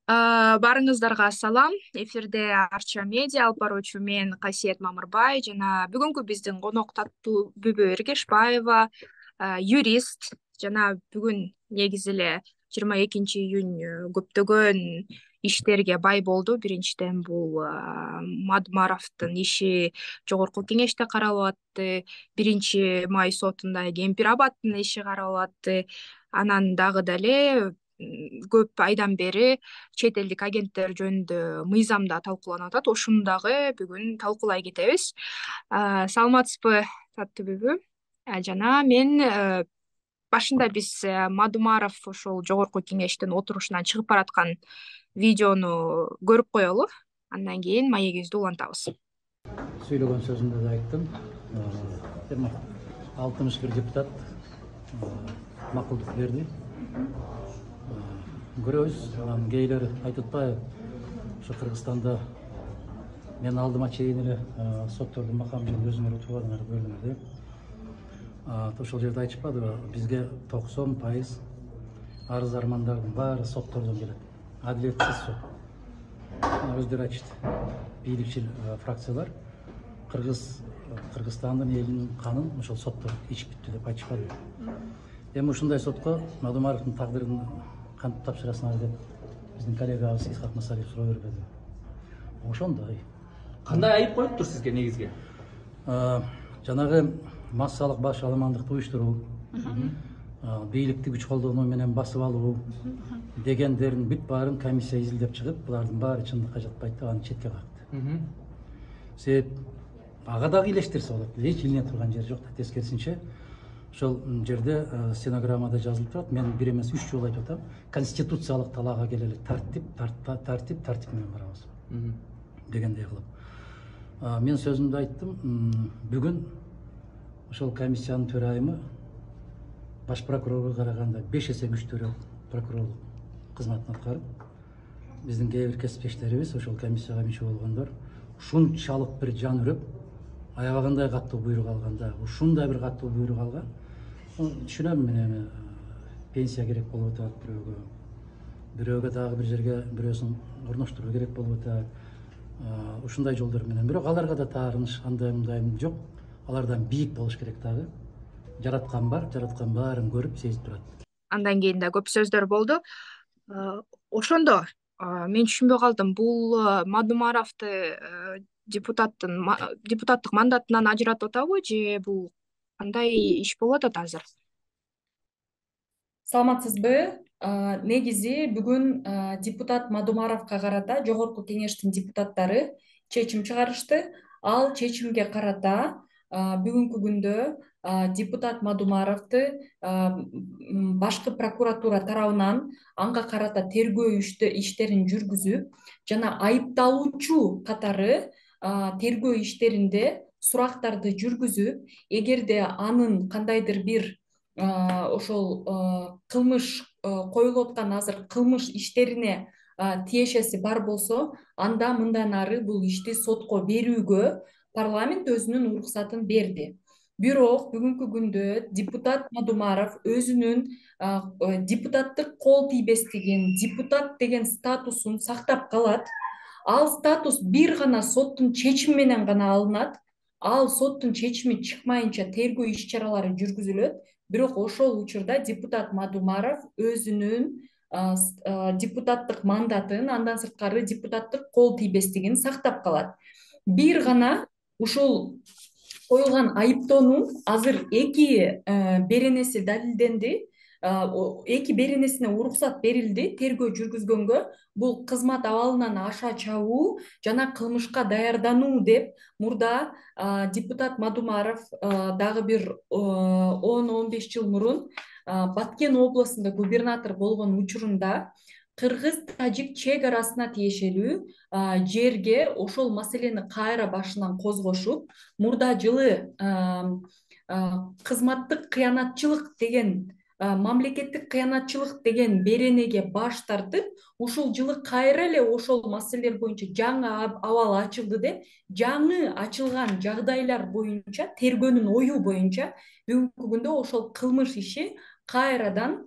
Барыңыздарга салам. Эфирде Арча медиа алып баруучу мен Касиет Мамырбай жана бүгүнкү биздин конок таттуу Бүбө Эргешбаева, юрист жана бүгүн негизи эле 22 июнь көптөгөн иштерге бай болду. Биринчиден бул Мадумаровдун иши Жогорку кеңеште каралып атты. 1-май сотунда Кемпир Абадтын иши каралып атты. Анан дагы деле көп айдан бери чет элдик агенттер жөнүндө мыйзамда талкууланып атат. Ошону дагы бүгүн талкуулай кетебиз. Саламатсызбы, таттуу Бүбү? Жана мен башында биз Мадумаров ошол Жогорку кеңештин отурушунан чыгып бараткан видеону көрүп коелу. Андан кийин маегибизди улантабыз. Сүйлөгөн сөзүмдө да айттым. 61 депутат макулдук берди. Көрөбүз, кейлери айтып атпайбы, ошо Кыргызстанда мен алдыма чейин эле соттордун макамы жөнүндө өзүңөр утурбадыңар, көрдүңөр деп. Ошол жерде айтышпадыбы, бизге 90% арыз армандардын баары соттордон келет. Адилетсиз сот. Өздөрү айтышты. Бийликчил фракциялар Кыргызстандын элинин канын ошол соттор ичип бүттү деп айтышпадыбы. Эми ушундай сотко Мадумаровдун тагдырын кантип тапшырасыңар деп биздин коллегабыз Исхак Масалиев суроо бербедиби? Ошондой. Кандай айып коюптур сизге негизги? Жанагы массалык баш аламандыкты уюштуруу, бийликти күч колдонуу менен басып алуу дегендердин бүт баарын комиссия изилдеп чыгып, булардын баары чындыкка жатпайт деп аны четке какты. Себеп ага дагы илештирсе болот. Эч илине турган жери жок да, тескерисинче. Ошол жерде стенограммада жазылып турат. Мен бир эмес 3 жолу айтып атам. Конституциялык талаага келели, тартип менен барабыз. Дегендей кылып. Мен сөзүмдө айттым. Бүгүн ошол комиссиянын төрайымы баш прокурорго караганда 5 эсе күчтүүрөөк прокурорлук кызматын аткарып, биздин кээ бир кесиптештерибиз, ошол комиссияга мүчө болгондор ушунчалык бир жан үрөп, аябагандай каттуу буйрук алганда, ушундай бир каттуу буйрук алган. Түшүнөм, мен эми пенсия керек болуп атат бирөөгө дагы бир жерге бирөөсүн орноштуруу керек болуп атат. Ушундай жолдор менен. Бирок аларга да таарыныш андай жок. Алардан бийик болуш керек дагы. Жараткан бар, жараткан баарын көрүп, сезип турат. Андан кийин да көп сөздөр болду. Ошондо мен түшүнбөй калдым. Бул Мадумаровду депутаттык мандатынан ажыратып атабы же бул кандай иш болуп атат азыр? Саламатсызбы? Негизи бүгүн депутат Мадумаровго карата Жогорку кеңештин депутаттары чечим чыгарышты. Ал чечимге карата бүгүнкү күндө депутат Мадумаровду башкы прокуратура тарабынан анга карата тергөө иштерин жүргүзүп, жана айыпталуучу катары тергөө иштеринде сурактарды жүргүзүп, эгерде анын кандайдыр бир ошол кылмыш коюлуп аткан азыр кылмыш иштерине тиешеси бар болсо, анда мындан ары бул ишти сотко берүүгө парламент өзүнүн уруксатын берди. Бирок бүгүнкү күндө депутат Мадумаров өзүнүн депутаттык кол тийбестигин, депутат деген статусун сактап калат. Ал статус бир гана соттун чечими менен гана алынат. Ал соттун чечими чыкмайынча тергөө иш-чаралары жүргүзүлөт. Бирок ошол учурда депутат Мадумаров өзүнүн депутаттык мандатын, андан сырткары депутаттык кол тийбестигин сактап калат. Бир гана ушул коюлган айыптоонун азыр 2 беренеси далилденди. 2 беренесине уруксат берилди тергөө жүргүзгөнгө. Бул кызмат абалынан аша чабуу жана кылмышка даярдануу деп мурда депутат Мадумаров дагы бир 10-15 жыл мурун Баткен областында губернатор болгон учурунда кыргыз-тажик чек арасына тиешелүү жерге ошол маселени кайра башынан козгошуп, мурда жылы кызматтык кыянатчылык деген, мамлекеттик кыянатчылык деген беренеге баш тартып, ушул жылы кайра эле ошол маселелер боюнча жаңы абал ачылды деп, жаңы ачылган жагдайлар боюнча, тергөөнүн ою боюнча бүгүнкү күндө ошол кылмыш иши кайрадан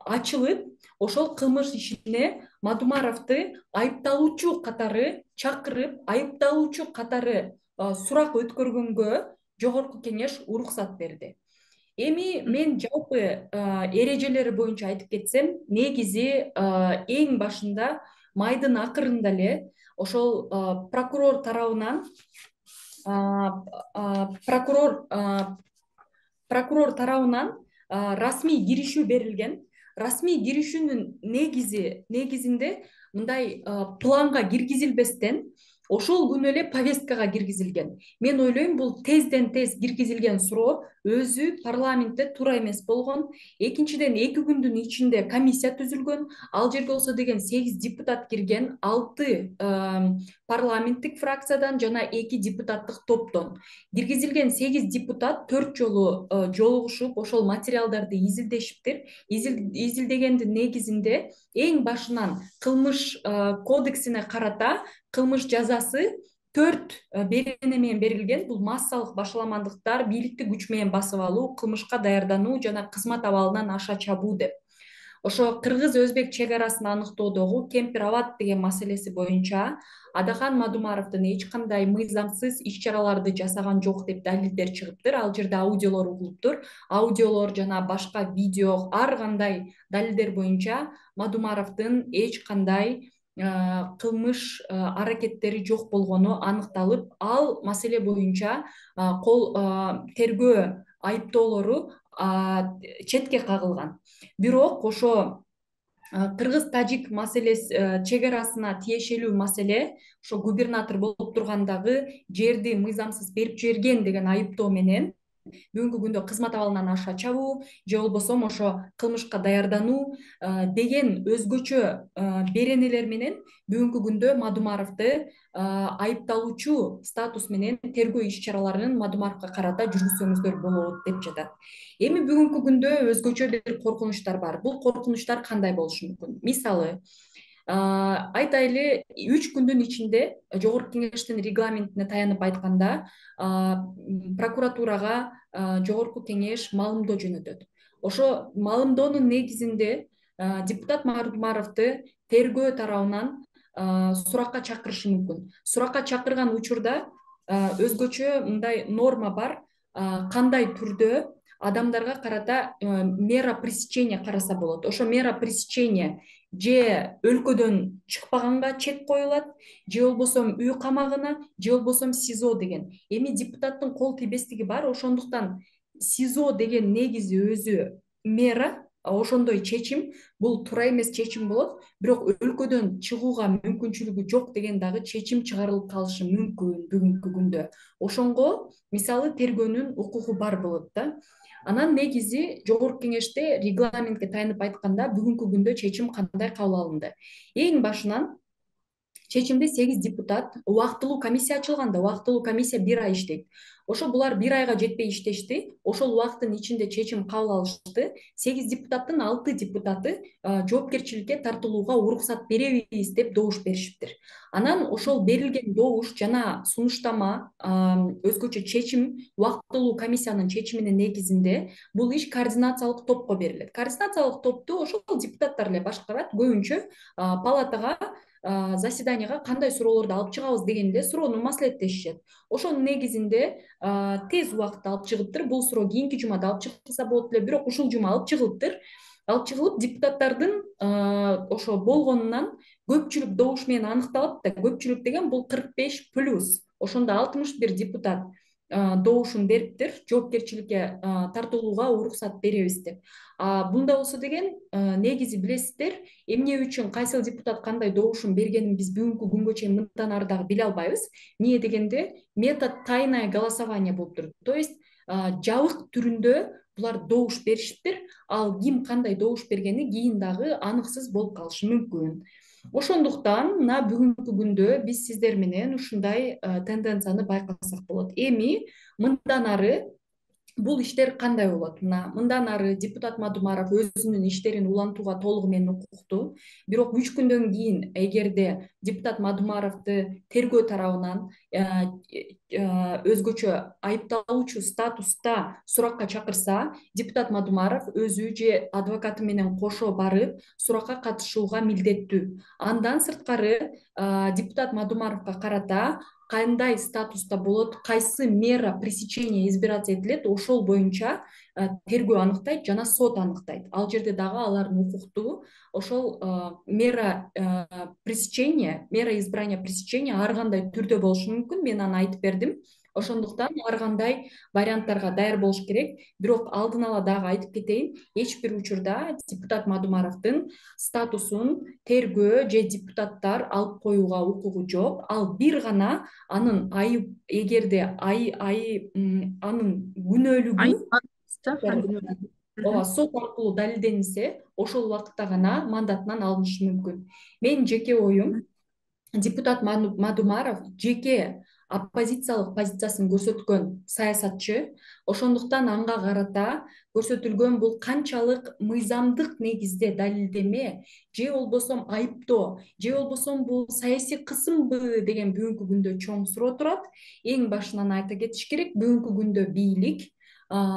ачылып, ошол кылмыш ишине Мадумаровду айыпталуучу катары чакырып, айыпталуучу катары сурак өткөргөнгө Жогорку Кеңеш уруксат берди. Эми мен жалпы эрежелери боюнча айтып кетсем, негизи эң башында майдын акырында эле ошол прокурор тарабынан расмий киришүү берилген. Расмий киришүүнүн негизинде мындай планга киргизилбестен ошол күнү эле повесткага киргизилген. Мен ойлойм, бул тезден тез киргизилген суроо өзү парламентте туура эмес болгон. Экинчиден, 2 күндүн ичинде комиссия түзүлгөн. Ал жерге болсо деген 8 депутат кирген, 6 парламенттик фракциядан жана 2 депутаттык топтон. Киргизилген 8 депутат 4 жолу жолугушуп, ошол материалдарды изилдешиптир. Изилдегендин негизинде эң башынан кылмыш кодексине карата кылмыш жазасы 4 берене менен берилген. Бул массалык башаламандыктар, бийликти күч менен басып алуу, кылмышка даярдануу жана кызмат абалынан аша чабуу деп. Ошо кыргыз-өзбек чек арасын аныктоодогу Кемпир Абад деген маселеси боюнча Адахан Мадумаровдун эч кандай мыйзамсыз иш-чараларды жасаган жок деп далилдер чыгыптыр. Ал жерде аудиолор угулуптур. Аудиолор жана башка видео, ар кандай далилдер боюнча Мадумаровдун эч кандай кылмыш аракеттери жок болгону аныкталып, ал маселе боюнча тергөө айыптоолору четке кагылган. Бирок ошо кыргыз-тажик маселеси, чек арасына тиешелүү маселе, ошо губернатор болуп тургандагы жерди мыйзамсыз берип жиберген деген айыптоо менен бүгүнкү күндө кызмат абалынан аша чабуу же болбосо ошо кылмышка даярдануу деген өзгөчө беренелер менен бүгүнкү күндө Мадумаровду айыпталуучу статус менен тергөө иш-чараларын Мадумаровго карата жүргүзсөңүздөр болот деп жатат. Эми бүгүнкү күндө өзгөчө бир коркунучтар бар. Бул коркунучтар кандай болушу мүмкүн? Мисалы, айтайлы, 3 күндүн ичинде Жогорку Кеңештин регламентине таянып айтканда, прокуратурага Жогорку Кеңеш маалымдоо жөнөтөт. Ошо маалымдоонун негизинде депутат Мадумаровду тергөө тарабынан суракка чакырышы мүмкүн. Суракка чакырган учурда өзгөчө мындай норма бар, кандай түрдө адамдарга карата мера пресечения караса болот. Ошо мера пресечения же өлкөдөн чыкпаганга чек коюлат, же болбосо үй камагына, же болбосо СИЗО деген. Эми депутаттын кол тийбестиги бар, ошондуктан СИЗО деген негизи өзү мера, ошондой чечим, бул туура эмес чечим болот, бирок өлкөдөн чыгууга мүмкүнчүлүгү жок деген дагы чечим чыгарылып калышы мүмкүн бүгүнкү күндө. Ошонго мисалы тергөөнүн укугу бар болот да. Анан негизи Жогорку Кеңеште регламентке таянып айтканда бүгүнкү күндө чечим кандай кабыл алынды? Эң башынан чечимде 8 депутат, убактылуу комиссия ачылган да, убактылуу комиссия 1 ай иштейт. Ошо булар 1 айга жетпей иштешти. Ошол убакыттын ичинде чечим кабыл алышты. 8 депутаттын 6 депутаты жоопкерчиликке тартылууга уруксат беребиз деп добуш беришиптир. Анан ошол берилген добуш жана сунуштама, өзгөчө чечим, убактылуу комиссиянын чечиминин негизинде бул иш координациялык топко берилет. Координациялык топту ошол депутаттар эле башкарат. Көбүнчө палатага заседанияга кандай суроолорду алып чыгабыз деген эле суроону маслихеттешишет. Ошонун негизинде тез убакытта алып чыгыптыр. Бул суроо кийинки жумада алып чыгылса болот эле, бирок ушул жума алып чыгылыптыр. Алып чыгылып, депутаттардын ошо болгонунан көпчүлүк добуш менен аныкталат да. Көпчүлүк деген бул 45+. Ошондо 61 депутат добушун бериптир, жоопкерчиликке тартылууга уруксат беребиз деп. Бунда болсо деген негизи билесиздер, эмне үчүн кайсыл депутат кандай добушун бергенин биз бүгүнкү күнгө чейин мындан ары дагы биле албайбыз. Эмне дегенде метод тайное голосование болуптур. То есть жабык түрүндө булар добуш беришиптир. Ал ким кандай добуш бергени кийин дагы аныксыз болуп калышы мүмкүн. Ошондуктан мына бүгүнкү күндө биз сиздер менен ушундай тенденцияны байкасак болот. Эми мындан ары бул иштер кандай болот? Мындан ары депутат Мадумаров өзүнүн иштерин улантууга толугу менен укуктуу. Бирок 3 күндөн кийин эгерде депутат Мадумаровду тергөө тарабынан өзгөчө айыпталуучу статуста суракка чакырса, депутат Мадумаров өзү же адвокаты менен кошо барып суракка катышууга милдеттүү. Андан сырткары депутат Мадумаровго карата кандай статуста болот, кайсы мера пресечения избираться этилет, ошол боюнча тергөө аныктайт жана сот аныктайт. Ал жерде дагы алардын укуктуу ошол мера пресечения, мера избрания пресечения ар кандай түрдө болушу мүмкүн. Мен аны айтып бердим. Ошондуктан ар кандай варианттарга даяр болуш керек. Бирок алдын ала дагы айтып кетейин, эч бир учурда депутат Мадумаровдун статусун тергөө же депутаттар алып коюуга укугу жок. Ал бир гана анын эгерде анын күнөөлүгү ооба сот аркылуу далилденсе, ошол убакытта гана мандатынан алынышы мүмкүн. Менин жеке оюм, депутат Мадумаров жеке оппозициялык позициясын көрсөткөн саясатчы. Ошондуктан анга карата көрсөтүлгөн бул канчалык мыйзамдык негизде далилдеме же болбосо айыптоо же болбосо бул саясий кысымбы деген бүгүнкү күндө чоң суроо турат. Эң башынан айта кетиш керек, бүгүнкү күндө бийлик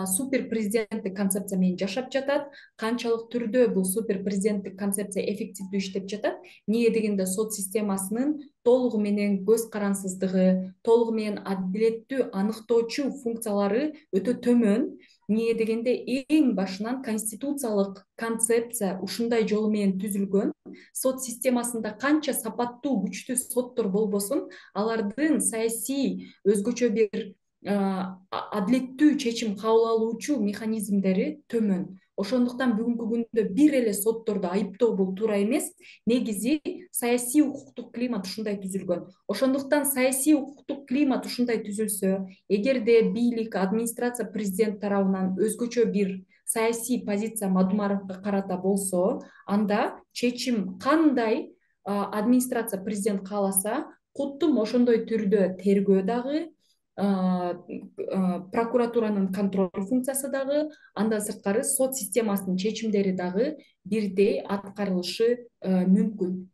супер президенттик концепция менен жашап жатат. Канчалык түрдө бул супер президенттик концепция эффективдүү иштеп жатат? Эмнеге дегенде сот системасынын толугу менен көз карансыздыгы, толугу менен адилеттүү аныктоочу функциялары өтө төмөн. Эмнеге дегенде эң башынан конституциялык концепция ушундай жолу менен түзүлгөн. Сот системасында канча сапаттуу, күчтүү соттор болбосун, алардын саясий өзгөчө бир адилеттүү чечим кабыл алуучу механизмдери төмөн. Ошондуктан бүгүнкү күндө бир эле сотторду айыптоо бул туура эмес. Негизи саясий укуктук климат ушундай түзүлгөн. Ошондуктан саясий укуктук климат ушундай түзүлсө, эгерде бийлик, администрация президент тарабынан өзгөчө бир саясий позиция Мадумаровго карата болсо, анда чечим кандай администрация президент кааласа, куттум ошондой түрдө тергөө дагы, прокуратуранын контроль функциясы дагы, андан сырткары сот системасынын чечимдери дагы бирдей аткарылышы мүмкүн.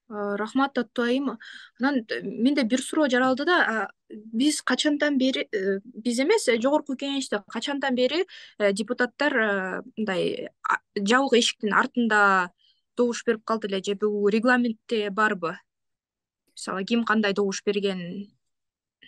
Рахмат Аттуу айым. Анан менде бир суроо жаралды да, биз качандан бери, биз эмес, жогорку кеңеште качандан бери депутаттар мындай жабык эшиктин артында добуш берип калды эле, же бул регламентте барбы? Мисалы, ким кандай добуш берген?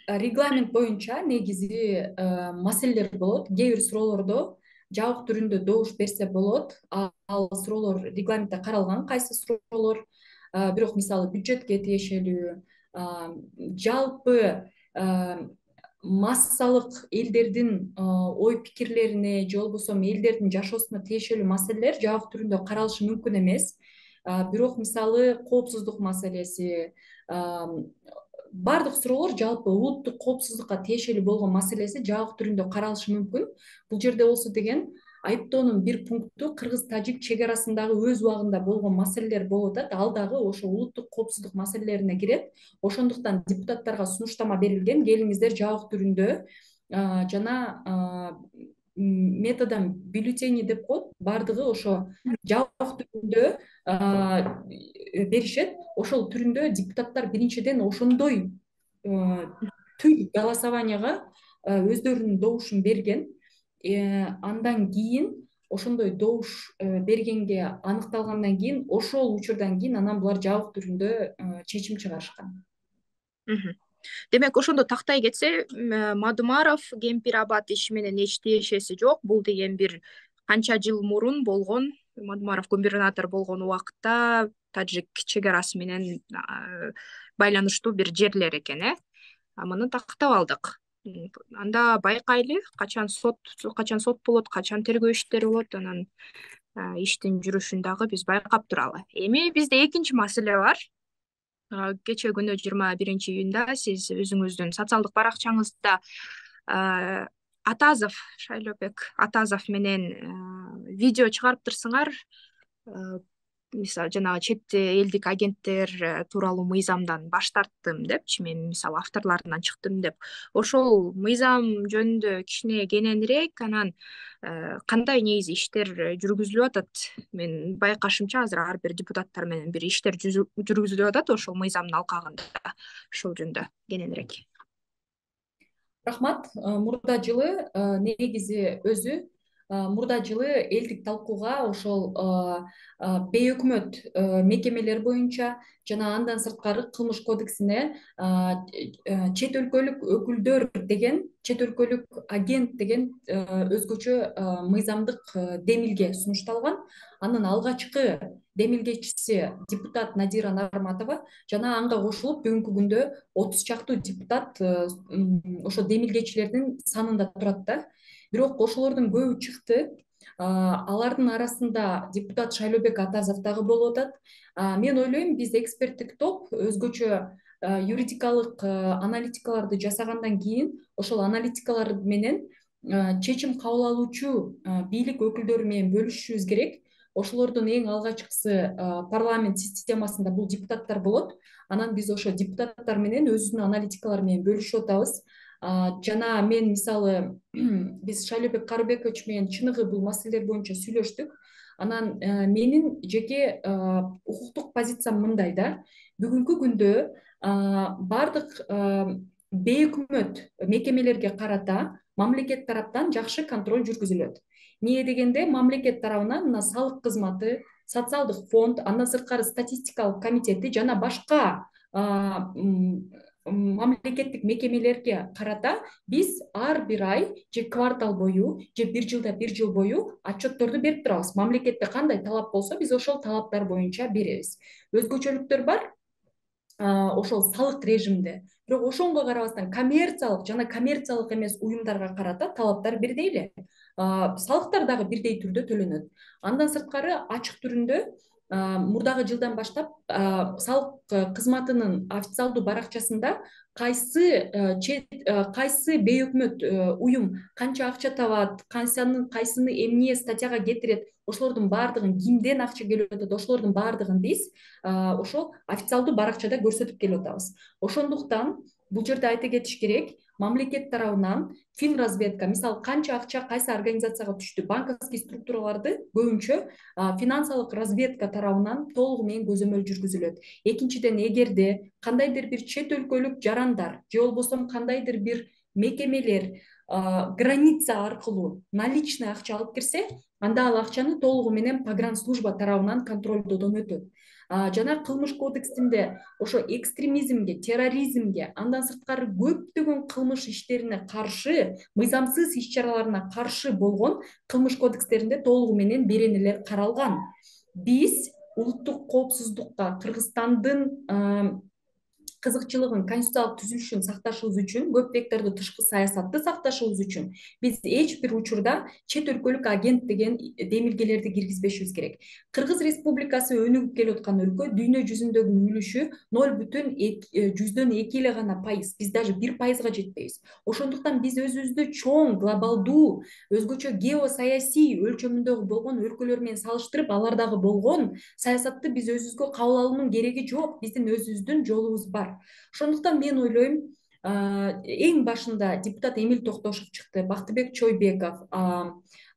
Регламент боюнча негизи маселелер болот. Кээ бир суроолордо жабык түрүндө добуш берсе болот. Ал суроолор регламентте каралган, кайсы суроолор. Бирок мисалы бюджетке тиешелүү, жалпы массалык элдердин ой пикирлерине же болбосо элдердин жашоосуна тиешелүү маселелер жабык түрүндө каралышы мүмкүн эмес. Бирок мисалы коопсуздук маселеси, баардык суроолор жалпы улуттук коопсуздукка тиешелүү болгон маселеси жабык түрүндө каралышы мүмкүн. Бул жерде болсо деген айыптоонун бир пункту кыргыз-тажик чек арасындагы өз убагында болгон маселелер болуп атат. Ал дагы ошо улуттук коопсуздук маселелерине кирет. Ошондуктан депутаттарга сунуштама берилген, келиңиздер жабык түрүндө жана методом бюллетени деп коет, баардыгы ошо жабык түрүндө беришет. Ошол түрүндө депутаттар биринчиден ошондой түр голосованияга өздөрүнүн добушун берген. Андан кийин ошондой добуш бергенге аныкталгандан кийин, ошол учурдан кийин анан булар жабык түрүндө чечим чыгарышкан. Демек, ошондо тактай кетсе, Мадумаров Кемпир Абад иши менен эч тиешеси жок. Бул деген бир канча жыл мурун болгон, Мадумаров губернатор болгон убакытта тажик чек арасы менен байланыштуу бир жерлер экен, Муну тактап алдык. Анда байкайлы, качан сот болот, качан тергөө иштери болот, анан иштин жүрүшүн дагы биз байкап туралы. Эми бизде экинчи маселе бар. Кечээ күнү 21-июнда сиз өзүңүздүн социалдык баракчаңызда Атазов, Шайлообек Атазов менен видео чыгарыптырсыңар. мисалы жанагы чет элдик агенттер тууралуу мыйзамдан баш тарттым депчи, мен мисалы авторлорунан чыктым деп, ошол мыйзам жөнүндө кичине кененирээк анан кандай негизи иштер жүргүзүлүп атат? Мен байкашымча азыр ар бир депутаттар менен бир иштер жүргүзүлүп атат ошол мыйзамдын алкагында. Ошол жөнүндө кененирээк. Рахмат. Мурда жылы негизи өзү мурда жылы элдик талкууга ошол бейөкмөт мекемелер боюнча жана андан сырткары кылмыш кодексине чет өлкөлүк өкүлдөр деген, чет өлкөлүк агент деген өзгөчө мыйзамдык демилге сунушталган. Анын алгачкы демилгечиси депутат Надира Нарматова жана анга кошулуп бүгүнкү күндө 30 чактуу депутат ошо демилгечилердин санында турат да. Бирок ошолордун көбү чыкты. Алардын арасында депутат Шайлообек Атазов дагы болуп атат. Мен ойлойм, биз эксперттик топ өзгөчө юридикалык аналитикаларды жасагандан кийин ошол аналитикалар менен чечим кабыл алуучу бийлик өкүлдөрү менен бөлүшүшүбүз керек. Ошолордун эң алгачкысы парламент системасында бул депутаттар болот. Анан биз ошо депутаттар менен өзүбүздүн аналитикалар менен бөлүшүп атабыз. Жана мен мисалы биз Шайлообек Карыбекович менен чыныгы бул маселелер боюнча сүйлөштүк. Анан менин жеке укуктук позициям мындай да. Бүгүнкү күндө бардык бейөкмөт мекемелерге карата мамлекет тараптан жакшы контроль жүргүзүлөт. Эмне дегенде, мамлекет тарабынан мына салык кызматы, социалдык фонд, андан сырткары статистикалык комитети жана башка мамлекеттик мекемелерге карата биз ар бир ай же квартал бою же бир жылда бир жыл бою отчетторду берип турабыз. Мамлекетте кандай талап болсо, биз ошол талаптар боюнча беребиз. Өзгөчөлүктөр бар ошол салык режимде. Бирок ошонго карабастан коммерциялык жана коммерциялык эмес уюмдарга карата талаптар бирдей эле. Салыктар дагы бирдей түрдө төлөнөт. Андан сырткары ачык түрүндө мурдагы жылдан баштап салык кызматынын официалдуу баракчасында кайсы бейөкмөт уюм канча акча табат, кайсыны эмне статьяга кетирет, ошолордун баардыгын, кимден акча келип атат, ошолордун баардыгын биз ошол официалдуу баракчада көрсөтүп келип атабыз. Ошондуктан бул жерде айта кетиш керек, мамлекет тарабынан финразведка, мисалы канча акча кайсы организацияга түштү, банковский структураларды көбүнчө финансылык разведка тарабынан толугу менен көзөмөл жүргүзүлөт. Экинчиден, эгерде кандайдыр бир чет өлкөлүк жарандар же болбосо кандайдыр бир мекемелер граница аркылуу наличный акча алып кирсе, анда ал акчаны толугу менен погранслужба тарабынан контролдодон өтөт. Жана кылмыш кодексинде ошо экстремизмге, терроризмге, андан сырткары көптөгөн кылмыш иштерине каршы, мыйзамсыз иш-чараларына каршы болгон кылмыш кодекстеринде толугу менен беренелер каралган. Биз улуттук коопсуздукка, Кыргызстандын кызыкчылыгын, конституциялык түзүлүшүн сакташыбыз үчүн, көп вектордуу тышкы саясатты сакташыбыз үчүн биз эч бир учурда чет өлкөлүк агент деген демилгелерди киргизбешибиз керек. Кыргыз Республикасы өнүгүп келип аткан өлкө, дүйнө жүзүндөгү үлүшү 0,2 эле гана пайыз. Биз даже 1%га жетпейбиз. Ошондуктан биз өзүбүздү чоң, глобалдуу, өзгөчө геосаясий өлчөмүндөгү болгон өлкөлөр менен салыштырып, алардагы болгон саясатты биз өзүбүзгө кабыл алуунун кереги жок. Биздин өзүбүздүн жолубуз бар. Ошондуктан мен ойлойм, эң башында депутат Эмил Токтошов чыкты, Бактыбек Чойбеков,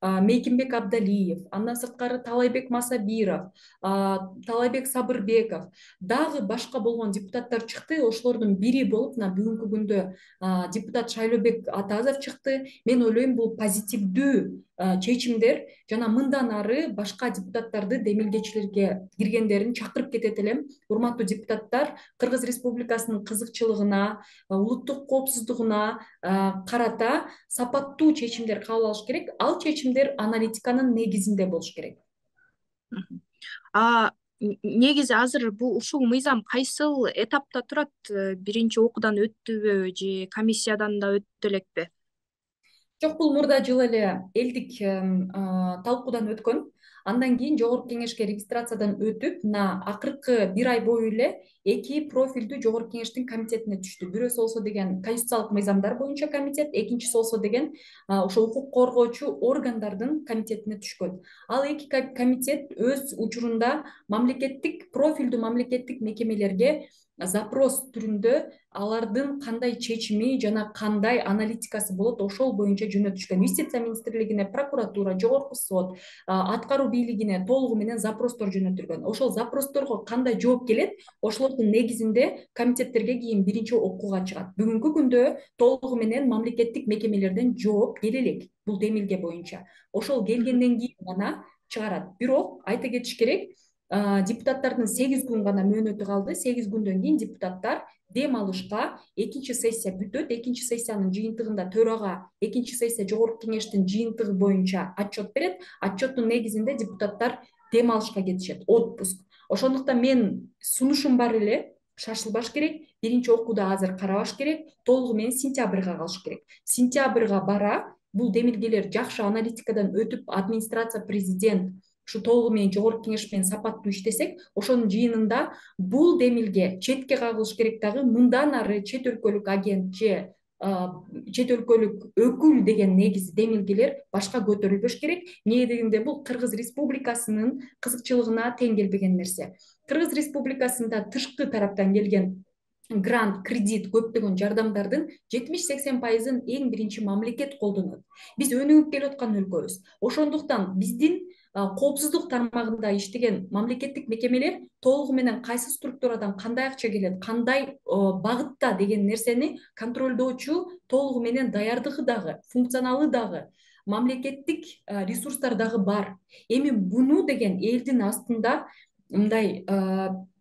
Мейкимбек Абдалиев, андан сырткары Талайбек Масабиров, Талайбек Сабырбеков, дагы башка болгон депутаттар чыкты. Ошолордун бири болуп, мына бүгүнкү күндө депутат Шайлообек Атазов чыкты. Мен ойлойм, бул позитивдүү чечимдер жана мындан ары башка депутаттарды демилгечилерге киргендерин чакырып кетет элем. Урматтуу депутаттар, Кыргыз Республикасынын кызыкчылыгына, улуттук коопсуздугуна карата сапаттуу чечимдер кабыл алыш керек. Ал чечимдер аналитиканын негизинде болуш керек. Негизи азыр ушул мыйзам кайсыл этапта турат? Биринчи окуудан өттүбү же комиссиядан да өттү элекпи? Жок, бул мурда жылы эле элдик талкуудан өткөн. Андан кийин Жогорку Кеңешке регистрациядан өтүп, мына акыркы бир ай бою эле эки профилдүү Жогорку Кеңештин комитетине түштү. Бирөөсү болсо деген конституциялык мыйзамдар боюнча комитет, экинчиси болсо деген ошо укук коргоочу органдардын комитетине түшкөн. Ал эки комитет өз учурунда профилдүү мамлекеттик мекемелерге запрос түрүндө алардын кандай чечими жана кандай аналитикасы болот ошол боюнча жөнөтүшкөн. Юстиция министрлигине, прокуратура, жогорку сот, аткаруу бийлигине толугу менен запростор жөнөтүлгөн. Ошол запросторго кандай жооп келет, ошолордун негизинде комитеттерге кийин биринчи окууга чыгат. Бүгүнкү күндө толугу менен мамлекеттик мекемелерден жооп келе элек бул демилге боюнча. Ошол келгенден кийин гана чыгарат. Бирок айта кетиш керек, депутаттардын 8 күн гана мөөнөтү калды. 8 күндөн кийин депутаттар дем алышка экинчи сессия бүтөт. Экинчи сессиянын жыйынтыгында төрага экинчи сессия Жогорку Кеңештин жыйынтыгы боюнча отчет берет. Отчеттун негизинде депутаттар дем алышка кетишет, отпуск. Ошондуктан мен сунушум бар эле, шашылбаш керек. Биринчи окууда азыр карабаш керек. Толугу менен сентябрга калыш керек. Сентябрга бара бул демилгелер жакшы аналитикадан өтүп, администрация, президент ушу толугу менен Жогорку Кеңеш менен сапаттуу иштесек, ошонун жыйынында бул демилге четке кагылыш керек. Дагы мындан ары чет өлкөлүк агент же чет өлкөлүк өкүл деген негизи демилгелер башка көтөрүлбөш керек. Эмне дегенде бул Кыргыз Республикасынын кызыкчылыгына тең келбеген нерсе. Кыргыз Республикасында тышкы тараптан келген грант, кредит, көптөгөн жардамдардын 70-80%-ын эң биринчи мамлекет колдонот. Биз өнүгүп келаткан өлкөбүз. Ошондуктан биздин коопсуздук тармагында иштеген мамлекеттик мекемелер толугу менен кайсы структурадан кандай акча келет, кандай багытта деген нерсени контролдоочу толугу менен даярдыгы дагы, функционалы дагы, мамлекеттик ресурстар дагы бар. Эми буну деген элдин астында мындай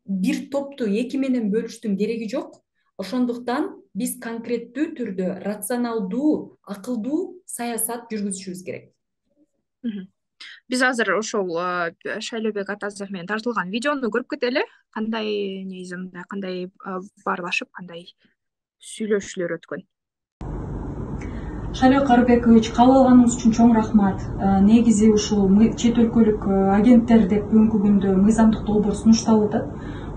бир топту эки менен бөлүштүн кереги жок. Ошондуктан биз конкреттүү түрдө рационалдуу, акылдуу саясат жүргүзүшүбүз керек. Биз азыр ошол Шайлообек Атазов менен тартылган видеону көрүп кетели. Кандай негизинде кандай баарлашып, кандай сүйлөшүүлөр өткөн. Шайлообек Карыбекович, кабыл алганыңыз үчүн чоң рахмат. Негизи ушул чет өлкөлүк агенттер деп бүгүнкү күндө мыйзамдык долбоор сунушталып атат.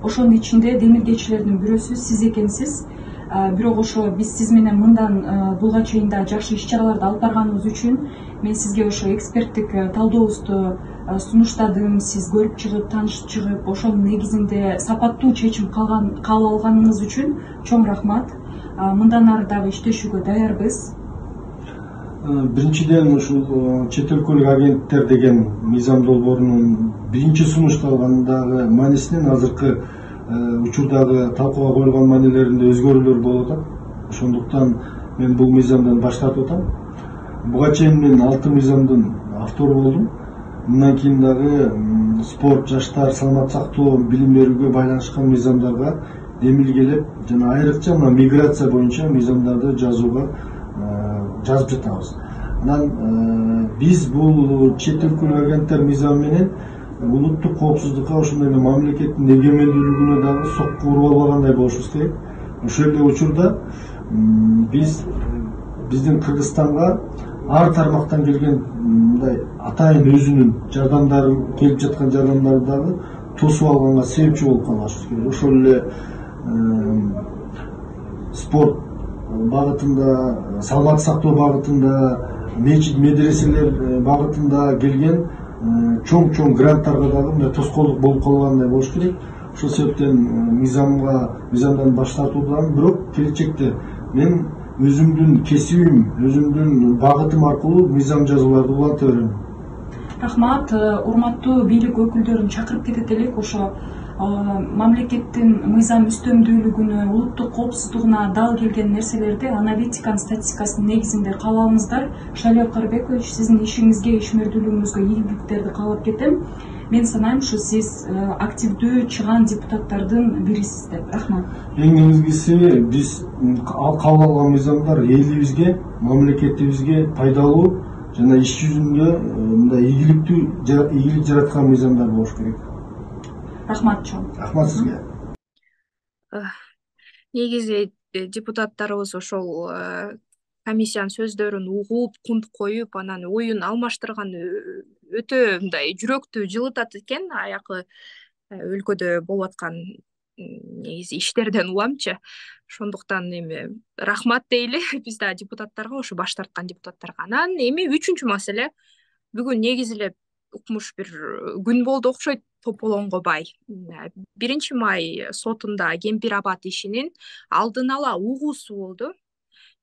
Ошонун ичинде демилгечилердин бирөөсү сиз экенсиз. Бирок ошо биз сиз менен мындан булга чейин да жакшы иш-чараларды алып барганыбыз үчүн мен сизге ошо эксперттик талдообузду сунуштадым. Сиз көрүп чыгып, таанышып чыгып, ошонун негизинде сапаттуу чечим кабыл алганыңыз үчүн чоң рахмат. Мындан ары дагы иштешүүгө даярбыз. Биринчиден ушул чет өлкөлүк агенттер деген мыйзам долбоорунун биринчи сунушталгандагы маанисинен азыркы учурдагы талкууга коюлган маанилеринде өзгөрүүлөр болуп атат. Ошондуктан мен бул мыйзамдан баш тартып атам. Буга чейин мен 6 мыйзамдын автору болдум. Мындан кийин дагы спорт, жаштар, саламат сактоо, билим берүүгө байланышкан мыйзамдарга демилгелеп жана айрыкча мына миграция боюнча мыйзамдарды жазууга жазып жатабыз. Анан биз бул чет өлкөлүк агенттер мыйзамы менен улуттук коопсуздукка, ошондой эле мамлекеттин эгемендүүлүгүнө дагы сокку уруп албагандай болушубуз керек. Ошол эле учурда биздин Кыргызстанга ар тармактан келген мындай атайын өзүнүн жардамдары, келип жаткан жардамдарды дагы тосуп алганга себепчи болуп калышыбыз керек. Ошол эле спорт багытында, саламат сактоо багытында, мечит, медреселер багытында келген чоң гранттарга дагы мындай тоскоолдук болуп калгандай болуш керек. Ошол себептен мыйзамдан баш тартуудамын. Бирок келечекте мен өзүмдүн кесибим, өзүмдүн багытым аркылуу мыйзам жазууларды уланта берем. Рахмат. Урматтуу бийлик өкүлдөрүн чакырып кетет элек. Ошо мамлекеттин мыйзам үстөмдүүлүгүнө, улуттук коопсуздугуна дал келген нерселерди аналитиканын статистикасынын негизинде каалабыңыздар. Шайлообек Карыбекович, сиздин ишиңизге, ишмердүүлүгүңүзгө ийгиликтерди каалап кетем. Мен санайм, ушу сиз активдүү чыган депутаттардын бирисиз деп. Рахмат. Эң негизгиси биз кабыл алган мыйзамдар элибизге, мамлекетибизге пайдалуу жана иш жүзүндө мындай ийгилик жараткан мыйзамдар болуш керек. Рахмат чоң. Рахмат сизге. Негизи депутаттарыбыз ошол комиссиянын сөздөрүн угуп, кунт коюп, анан оюн алмаштырган өтө мындай жүрөктү жылытат экен. Аякы өлкөдө болуп аткан негизи иштерден уламчы. Ошондуктан эми рахмат дейли биз да депутаттарга, ошо баш тарткан депутаттарга. Анан эми үчүнчү маселе, бүгүн негизи эле укмуш бир күн болду окшойт Тополонго бай. 1 май сотунда Кемпир Абад ишинин алдын ала угуусу болду.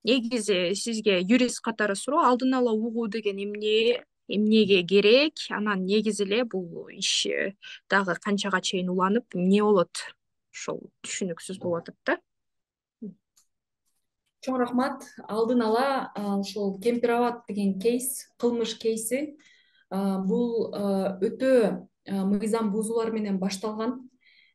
Негизи сизге юрист катары суроо, алдын ала угуу деген эмнеге керек? Анан негизи эле бул иш дагы канчага чейин уланып, эмне болот? Ошол түшүнүксүз болуп атат да. Чоң рахмат. Алдын ала ошол Кемпир Абад деген кылмыш кейси бул өтө мыйзам бузуулар менен башталган.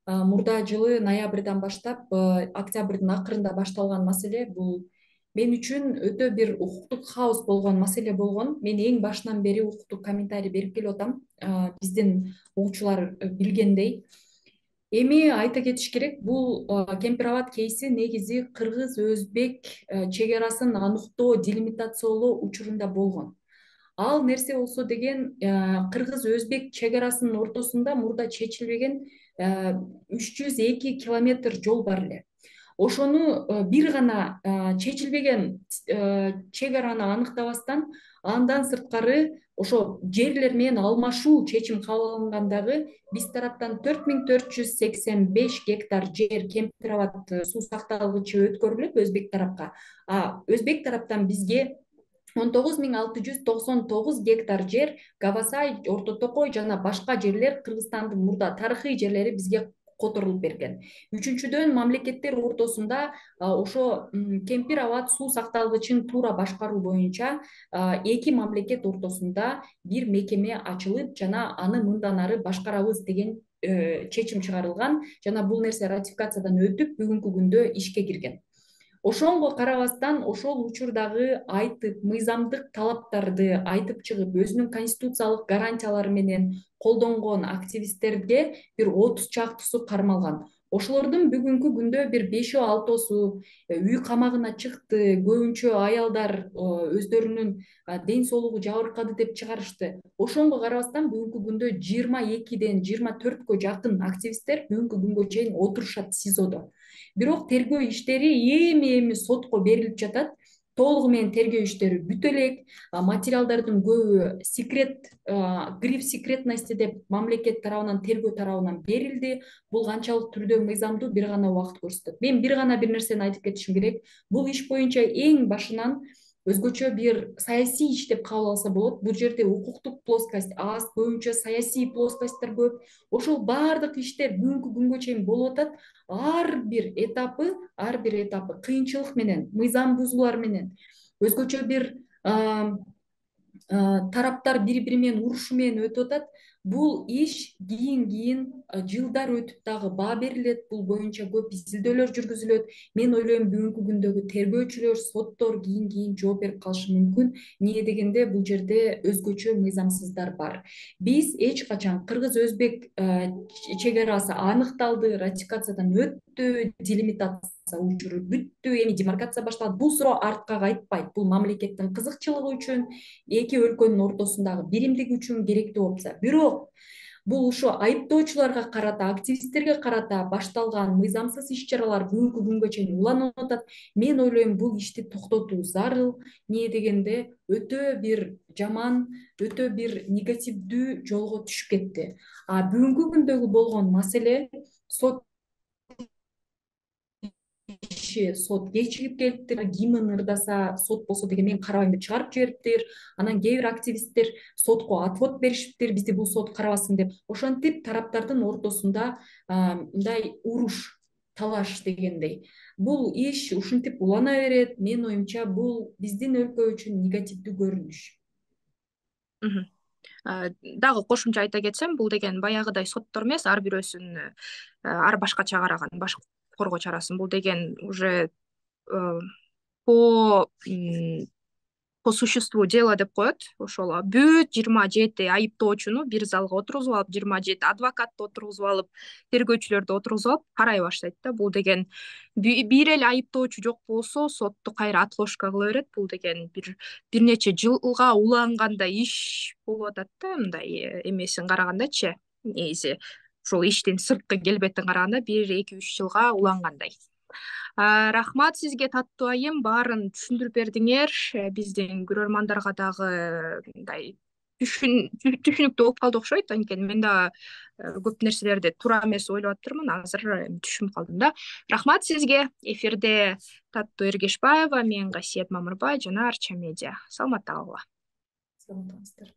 Мурда жылы ноябрдан баштап октябрдын акырында башталган маселе. Бул мен үчүн өтө бир укуктук хаос болгон маселе болгон. Мен эң башынан бери укуктук комментарий берип келип атам. Биздин угуучулар билгендей. Эми айта кетиш керек, бул Кемпир Абад кейси негизи кыргыз-өзбек чек-арасын аныктоо, делимитациялоо учурунда болгон. Ал нерсе болсо деген кыргыз-өзбек чек-арасынын ортосунда мурда чечилбеген 302 километр жол бар эле. Ошону бир гана чечилбеген чек-араны аныктабастан, андан сырткары ошо жерлер менен алмашуу чечим кабыл алынгандагы биз тараптан 4485 гектар жер Кемпир Абад суу сакталгычы өткөрүлүп өзбек тарапка. Өзбек тараптан бизге 19699 гектар жер Габасай, Орто Токой жана башка жерлер, Кыргызстандын мурда тарыхый жерлери бизге которулуп берген. Үчүнчүдөн, мамлекеттер ортосунда ошо Кемпир Абад суу сакталгычын туура башкаруу боюнча эки мамлекет ортосунда бир мекеме ачылып, жана аны мындан ары башкарабыз деген чечим чыгарылган, жана бул нерсе ратификациядан өтүп бүгүнкү күндө ишке кирген. Ошонго карабастан, ошол учурдагы айтып, мыйзамдык талаптарды айтып чыгып, өзүнүн конституциялык гарантиялары менен колдонгон активисттерге бир 30 чактуусу кармалган. Ошолордун бүгүнкү күндө бир 5-6су үй камагына чыкты, көбүнчө аялдар өздөрүнүн ден соолугу жабыркады деп чыгарышты. Ошонго карабастан бүгүнкү күндө 22ден 24кө жакын активисттер бүгүнкү күнгө чейин отурушат СИЗОдо. Бирок тергөө иштери эми сотко берилип жатат. Толугу менен тергөө иштери бүтө элек. Материалдардын көбү гриф секретности деп мамлекет тарабынан, тергөө тарабынан берилди. Бул канчалык түрдө мыйзамдуу бир гана убакыт көрсөтөт. Мен бир гана бир нерсени айтып кетишим керек. Бул иш боюнча эң башынан өзгөчө бир саясий иш деп кабыл алса болот. Бул жерде укуктук плоскость аз, көбүнчө саясий плоскосттор көп. Ошол баардык иштер бүгүнкү күнгө чейин болуп атат. Ар бир этапы кыйынчылык менен, мыйзам бузуулар менен, өзгөчө бир тараптар бири-бири менен урушу менен өтүп атат. Бул иш кийин жылдар өтүп дагы баа берилет. Бул боюнча көп изилдөөлөр жүргүзүлөт. Мен ойлойм бүгүнкү күндөгү тергөөчүлөр, соттор кийин жооп берип калышы мүмкүн. Эмне дегенде бул жерде өзгөчө мыйзамсыздар бар. Биз эч качан кыргыз-өзбек чек-арасы аныкталды, ратификациядан өттү, делимитация учуру бүттү, эми демаркация башталат. Бул суроо артка кайтпайт. Бул мамлекеттин кызыкчылыгы үчүн, эки өлкөнүн ортосундагы биримдик үчүн керектүү опция. Бирок бул ошо айыптоочуларга карата, активисттерге карата башталган мыйзамсыз иш-чаралар бүгүнкү күнгө чейин уланып атат. Мен ойлойм бул ишти токтотуу зарыл. Эмне дегенде өтө бир жаман, өтө бир негативдүү жолго түшүп кетти. Бүгүнкү күндөгү болгон маселе сот кечигип келиптир. Кимин ырдаса сот болсо деген мен карабайм деп чыгарып жибериптир. Анан кээ бир активисттер сотко отвод беришиптир, бизди бул сот карабасын деп. Ошентип тараптардын ортосунда мындай уруш, талаш дегендей. Бул иш ушинтип улана берет. Менин оюмча бул биздин өлкө үчүн негативдүү көрүнүш. Дагы кошумча айта кетсем, бул деген баягыдай соттор эмес, ар бирөөсүн ар башкача караган баш коргоо чарасын. Бул деген уже по по существу дела деп коет. Ошол бүт 27 айыптоочуну бир залга отургузуп алып, 27 адвокатты отургузуп алып, тергөөчүлөрдү отургузуп алып карай баштайт да. Бул деген бир эле айыптоочу жок болсо, сотту кайра отложка кыла берет. Бул деген бир нече жылга улангандай иш болуп атат да, мындай эмесин карагандачы. Негизи ушул иштин сырткы келбетин караганда 1-2-3 жылга улангандай. Рахмат сизге таттуу айым, баарын түшүндүрүп бердиңер. Биздин көрөрмандарга дагы мындай түшүнүктүү болуп калды окшойт. Анткени мен да көп нерселерди туура эмес ойлоп атырмын. Азыр түшүнүп калдым да. Рахмат сизге. Эфирде Таттуу Эргешбаева, мен Касиет Мамырбай жана Арча медиа. Саламатта калгыла. Саламатыңыздар.